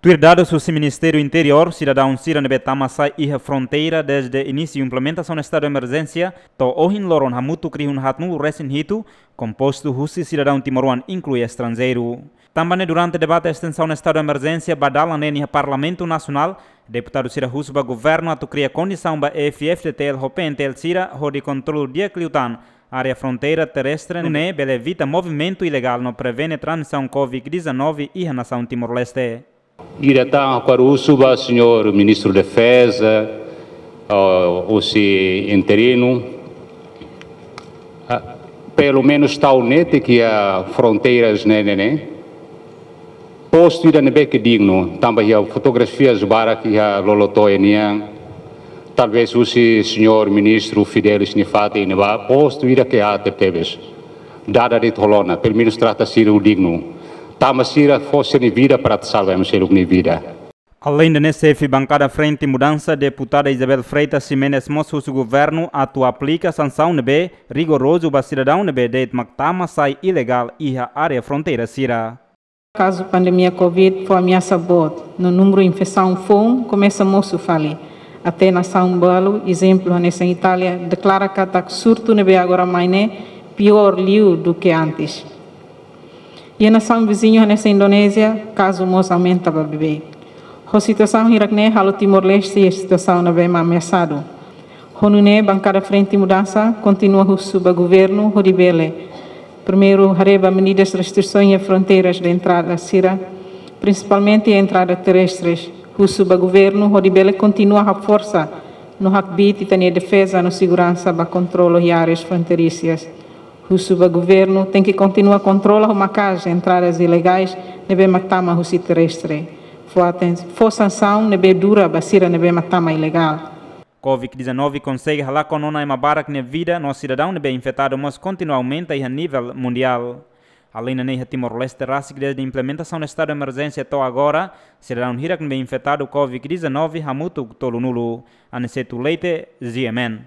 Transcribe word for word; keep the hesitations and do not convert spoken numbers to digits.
Tuir dadus husi Ministériu Interiór, sidadaun sira ne'ebé tama sai iha fronteira dezde inísiu implementasaun estadu emerjénsia to'o ohin loron hamutuk rihun haatnulu resin hitu, kompostu husi sidadaun timoroan inklui estranjeiru. Tanba ne'e, durante debate estensaun estadu emerjénsia ba dalan neen iha Parlamentu Nasionál, deputadu sira husu ba governu atu kria kondisaun ba F-FDTL ho P-NTL sira hodi kontrolu di'ak liután área fronteira terrestre, nune'e bele evita movimentu ilegál no prevene transmisaun COVID dezanove iha nasaun Timor-Leste. Ida tan ha'u husu ba señór Ministru Defeza, ah, husi interinu, ah, pelumenus tau netik iha fronteiras ne'e, ne'e, ne'e. Postu ida ne'ebé ke dignu, tanba iha fotografias barak iha lolotoin nian, talvés husi señór Ministru Fidelis nia fatin ne'ebá, postu ida ke aat tebes. Dada de'it ho lona, pelumenus trata sira ho dignu. Tanba sira fó sira-nia vida para atu salva ema seluk nia vida. Aleinde ne'e, xefe bankada Frente Mudansa, deputada Isabel Freitas Ximenes mós husu governu atu aplika sansaun ne'ebé rigorozu ba sidadaun ne'ebé de'it mak tama sai ilegál iha área fronteira sira. Kazu pandemia COVID fó ameasa boot, no númeru infesaun foun komesa mosu fali. Até nasaun balu, ezemplu hanesan Itália, deklara katak surtu ne'ebé agora mai ne'e piór liu duke antes. Iha nasaun viziñu hanesan Indonézia, kazu mós aumenta ba beibeik. Ho situasaun hirak ne'e halo Timor-Leste iha situasaun ne'ebé mak ameasadu. Ho nune'e, bankada Frente Mudansa kontinua husu ba governu hodi bele, primeiru, haree ba medidas restrisaun iha fronteiras de entrada sira, prinsipalmente entrada terrestres. Husu ba governu hodi bele kontinua haforsa no hakbiit ita-nia defeza no seguransa ba kontrolu iha áreas fronteiriças. Husu ba governu tenke kontinua kontrola ho maka'as entradas ilegais ne'ebé mak tama husi terrestre. Fó aten-, fó sansaun ne'ebé dura ba sira ne'ebé mak tama ilegál. COVID dezanove konsege halakon ona ema barak nia vida, no sidadaun ne'ebé infetadu mós kontinua aumenta iha nivel mundiál. Aleinde ne'e, iha Timor-Leste rasik dezde implementasaun estadu emerjénsia to'o agora, sidadaun hirak ne'ebé infetadu COVID dezanove hamutuk tolunulu. Aniceto Leite, G M N.